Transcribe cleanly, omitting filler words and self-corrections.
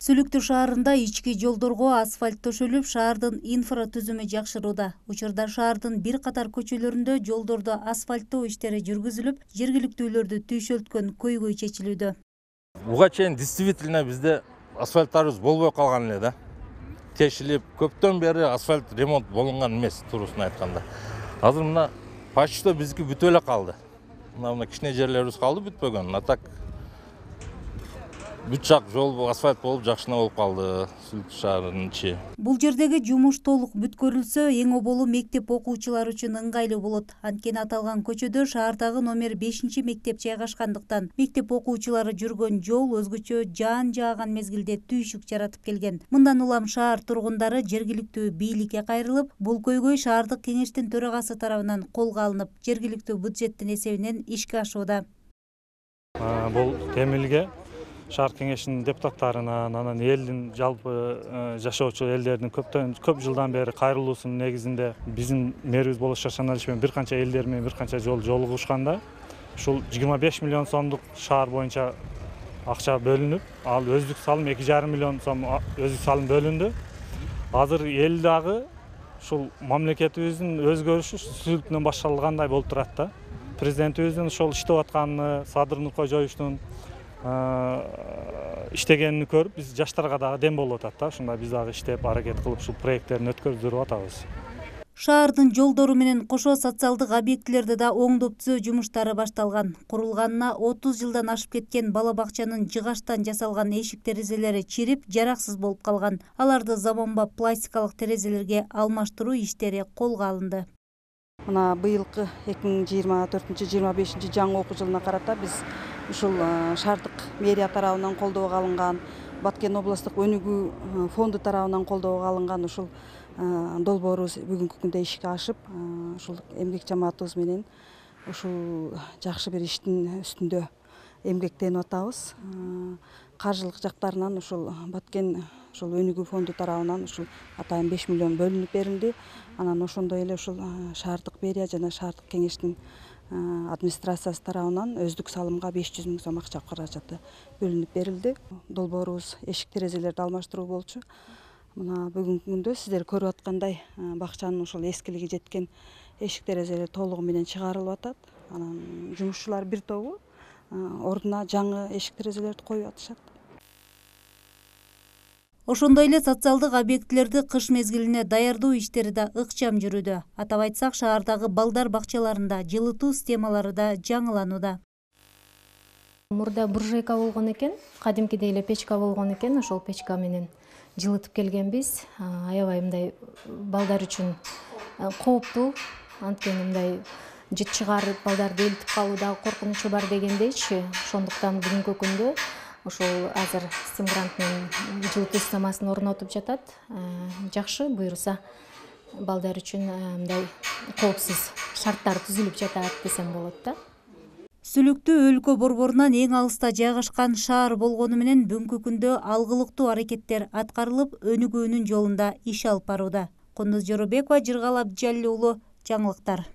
Сүлүктүү шаарында ички жолдорго асфальт төшөлүп, шаардын инфратүзүмү жакшырууда. Учурда шаардын бир катар көчөлөрүндө жолдорду асфальттоо иштери жүргүзүлүп, жергиликтүүлөрдү түйшөлткөн көйгөй чечилүүдө. Буга чейин действительно бизде асфальттарыбыз болбой калган эле да. Тешилип, көптөн бери асфальт ремонт болунган эмес, туруусун айтканда. Азыр мына почти биздики бүтүп эле калды. Мына кичине жерлерибиз калды бүтпөгөн. А так бүт жак жол асфальт болуп жакшына болуп калды Сүлүктүү шаарынын ичи. Бул жердеги жумуш толук бүткөрүлсө, эң оболу мектеп окуучулары үчүн ыңгайлуу болот. Анткени аталган көчөдө шаардагы номер 5 мектеп жайгашкандыктан мектеп окуучулары жүргөн жол өзгөчө жаан жааган мезгилде түйшүк жаратып келген. Мындан улам шаар тургундары жергиликтүү бийликке кайрылып, бул көйгөй шаардык кеңештин төрагасы тарабынан колго алынып, жергиликтүү бюджеттин эсебинен ишке ашууда. Бул темилге шаар кеңешинин депутаттарынан, анан элдин жалпы жашоочу элдердин көп жылдан бери кайрылуусунун негизинде биздин мэрибиз болуш Шашаналич менен бир канча элдер менен бир канча жолу жолугушканда, ушул 25 миллион сомдук шаар боюнча акча бөлүнүп, ал өздүк салым 2,5 миллион сом өздүк салым бөлүндү. Азыр эл дагы ушул мамлекетибиздин өзгөрүшү Сүлүктүнөн башталгандай болуп турат да. Президентибиздин ошол иштеп атканын, Садыр Нуркожоевичтин иштегенин көрүп, биз жаштарга дагы дем болуп атат да. Ушундай биз дагы иштеп, аракет кылып, ушул проекттерин өткөрүп атабыз. Шаардын жолдору менен кошо социалдык объектилерди да оңдоп түзөө жумуштары башталган. Курулганына 30 жылдан ашып кеткен бала бакчанын жыгачтан жасалган эшик терезелери чирип, жараксыз болуп калган. Аларды заманбап пластикалык терезелерге алмаштыруу иштери колго алынды. Мына быйылкы 2024-25 жаңы окуу жылына карата биз ушул шаардык мэрия тарабынан колдоого алынган, Баткен областтык өнүгүү фонду тарабынан колдоого алынган ушул долбоорубуз бүгүнкү күндө ишке ашып, ушул эмгек жамаатыбыз менен ушул жакшы бир иштин үстүндө эмгектенип атабыз. Каржылык жактарынан ушул Баткен ушул өнүгүү фонду тарабынан ушул атайын 5 миллион бөлүнүп берилди. Анан ошондой эле ушул шаардык мэрия жана шаардык кеңештин администрациясы тарабынан өздүк салымга 500 000 сом акча каражаты бөлүнүп берилди. Долбоорубуз эшик терезелерди алмаштыруу болчу. Мына бүгүнкү күндө сиздер көрүп аткандай бакчанын ушул эскилиги жеткен эшик терезелер толугу менен чыгарылып атат. Анан жумушчулар бир тобу ордуна жаңы эшик терезелерди коюп атышат. Ошондой эле социалдык объектилерди кыш мезгилине даярдоо иштери да ыкчам жүрүүдө. Атап айтсак, шаардагы балдар бакчаларында жылытуу системалары да жаңыланууда. Мурда буржуйка болгон экен, кадимкидей эле печка болгон экен, ошол печка менен жылытып келгенбиз. Аябай мындай балдар үчүн кооптуу, анткени мындай жыт чыгарып балдарды өлтүп калуу дагы коркунучу бар дегендейчи. Ошондуктан бүгүнкү күндө ошол азыр Стимгрант менен жылытуу системасын орнотуп жатат. Жакшы буюрса балдар үчүн мындай коопсуз шарттар түзүлүп жатат десем болот да. Сүлүктүү өлкө борборунан эң алыста жайгашкан шаар болгону менен бүгүнкү күндө алгылыктуу аракеттер аткарылып, өнүгүүнүн жолунда иш алып барууда. Кундуз Жоробекова, Жыргал Абдижалил уулу, жаңылыктар.